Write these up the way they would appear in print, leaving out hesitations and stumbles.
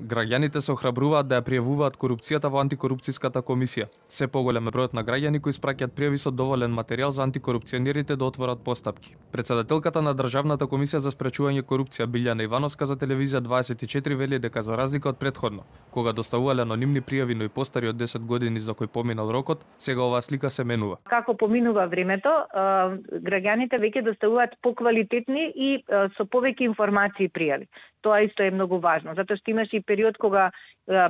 Граѓаните се охрабруваат да ја пријавуваат корупцијата во антикорупцијската комисија. Се поголем е бројот на граѓани кои испраќаат пријави со доволен материјал за антикорупционерите да отворат постапки. Претседателката на Државната комисија за спречување корупција Билјана Ивановска за телевизија 24 вели дека за разлика од претходно, кога доставувале анонимни пријави но и постари од 10 години за кои поминал рокот, сега оваа слика се менува. Како поминува времето, граѓаните веќе доставуваат поквалитетни и со повеќе информации пријави. Тоа исто е многу важно, затоа што имаше и период кога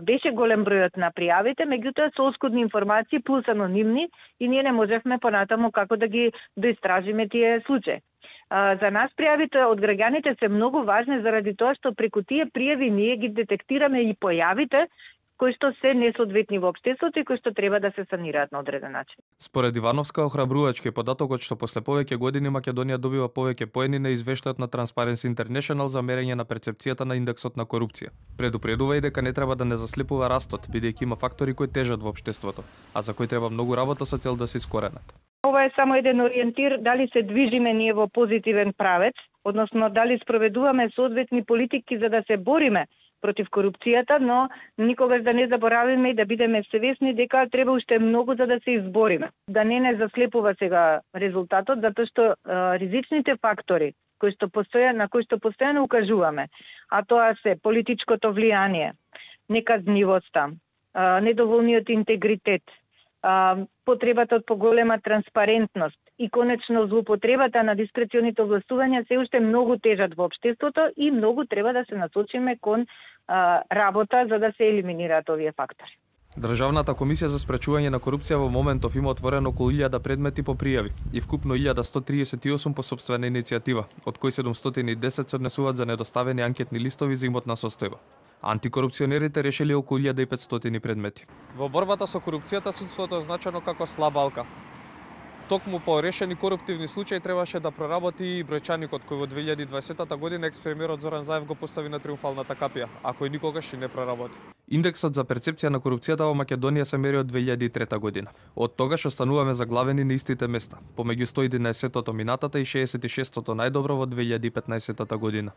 беше голем бројот на пријавите, меѓутоа со оскудни информации плюс анонимни и ние не можевме понатаму како да ги доистражиме тие случаи. За нас пријавите од граѓаните се многу важни заради тоа што преку тие пријави ние ги детектираме и појавите кои што се несоодветни во општеството и кои што треба да се санираат на одреден начин. Според Ивановска, охрабрувачки е податокот што после повеќе години Македонија добива повеќе поени на извештајот на Transparency International за мерење на перцепцијата на индексот на корупција. Предупредува и дека не треба да не заслепува растот, бидејќи има фактори кои тежат во општеството, а за кои треба многу работа со цел да се искоренат. Ова е само еден ориентир дали се движиме ние во позитивен правец, односно дали спроведуваме соодветни политики за да се бориме против корупцијата, но никогаш да не заборавиме и да бидеме свесни дека треба уште многу за да се избориме. Да не заслепува сега резултатот, затоа што ризичните фактори на кои што постојано укажуваме, а тоа се политичкото влијание, неказнивоста, недоволниот интегритет, потребата од поголема транспарентност и конечно злоупотребата на дискреционите овластувања се уште многу тежат во општеството и многу треба да се насочиме кон работа за да се елиминираат овие фактори. Државната комисија за спречување на корупција во моментов има отворено околу 1000 предмети по пријави и вкупно 1138 по сопствена иницијатива, од кои 710 се однесуваат за недоставени анкетни листови за имотна состојба. Антикорупционерите решили околу 1500 предмети. Во борбата со корупцијата судството е означено како слаба алка. Токму по решени коруптивни случаи требаше да проработи и бројчаникот кој во 2020 година екс-премиерот Зоран Заев го постави на триумфалната капија, а кој никогаш и не проработи. Индексот за перцепција на корупцијата во Македонија се мери од 2003 година. Од тогаш остануваме заглавени на истите места, помеѓу 111-тото минатата и 66-тото најдобро во 2015 година.